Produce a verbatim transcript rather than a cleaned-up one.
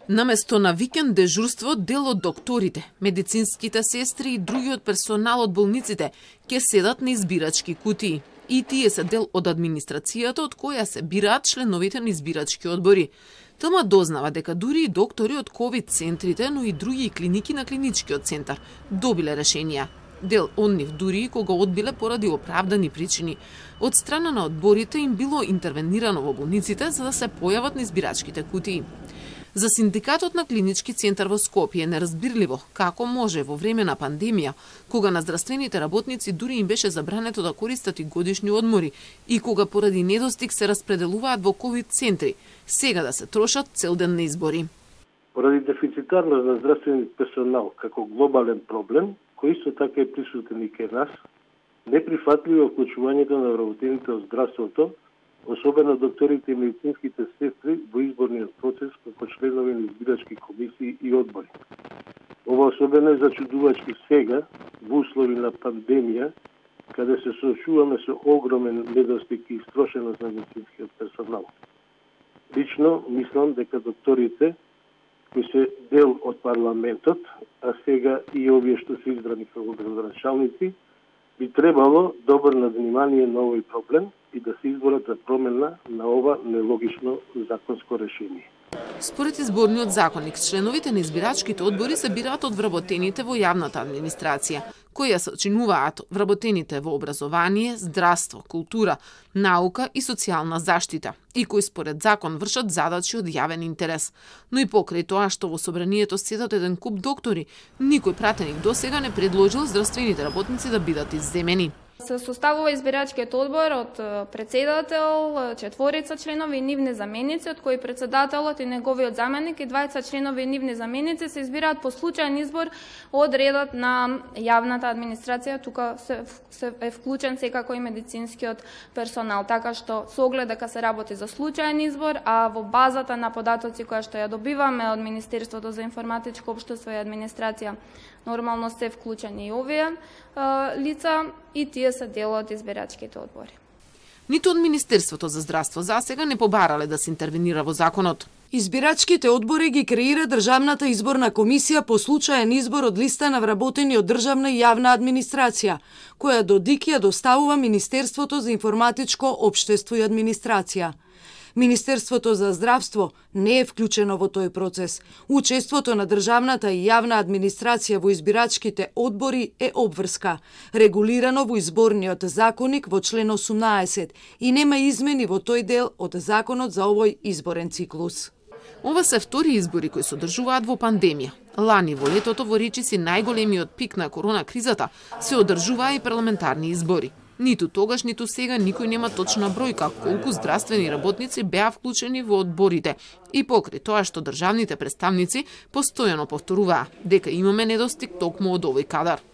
Наместо на викенд дежурство, дел од докторите, медицинските сестри и другиот персонал од болниците ќе седат на избирачки кутии. И тие се дел од администрацијата од која се бираат членовите на избирачки одбори. Тма дознава дека дури и доктори од ковид центрите, но и други клиники на клиничкиот центар добиле решенија. Дел од нив дури и кога одбиле поради оправдани причини. Од страна на одборите им било интервенирано во болниците за да се појават на избирачките кутии. За синдикатот на клинички центар во Скопје е неразбирливо како може во време на пандемија, кога на здравствените работници дури им беше забрането да користат и годишни одмори и кога поради недостиг се распределуваат во ковид центри, сега да се трошат цел ден на избори. Поради дефицитарност на здравствени персонал како глобален проблем, кој исто така е присутен и кај нас, неприфатливо вклучувањето на вработените од здравството, особено докторите и медицинските сестри во изборниот процес како членови на избирачки комисии и одбори. Ова особено е зачудувачки сега, во услови на пандемија, каде се соочуваме со огромен недостиг и истрошеност на медицинскиот персонал. Лично мислам дека докторите, кои се дел од парламентот, а сега и овие што се избрани како градоначалници, би требало да обрнат внимание на овој проблем и да се изборат за промена на ова нелогично законско решение. Според изборниот законник, членовите на избирачките одбори се бираат од вработените во јавната администрација, кои се очинуваат вработените во образование, здравство, култура, наука и социјална заштита, и кои според закон вршат задачи од јавен интерес. Но и покрај тоа што во собранието седат еден куп доктори, никој пратеник досега не предложил здравствените работници да бидат изземени. Се составува избирачкиот одбор од претседател, четворица членови и нивни заменици, од кои претседателот и неговиот заменик и двајца членови и нивни заменици се избираат по случаен избор од редот на јавната администрација. Тука се, се е вклучен секако и медицинскиот персонал, така што со оглед дека се работи за случаен избор, а во базата на податоци која што ја добиваме од Министерството за информатичко општество и администрација, нормално се вклучени и овие а, лица и тие се дел од избирачките одбори. Ниту од Министерството за здравство засега не побарале да се интервенира во законот. Избирачките одбори ги креира Државната изборна комисија по случаен избор од листа на вработени од државна и јавна администрација, која до ДИК ја доставува Министерството за информатичко општество и администрација. Министерството за здравство не е вклучено во тој процес. Учеството на државната и јавна администрација во избирачките одбори е обврска, регулирано во изборниот законник во член осумнаесет и нема измени во тој дел од законот за овој изборен циклус. Ова се втори избори кои се одржуваат во пандемија. Лани во летото во речиси најголемиот пик на корона кризата се одржуваа и парламентарни избори. Ниту тогаш, ниту сега никој нема точна бројка колку здравствени работници беа вклучени во одборите и покрај тоа што државните представници постојано повторуваа дека имаме недостиг токму од овој кадар.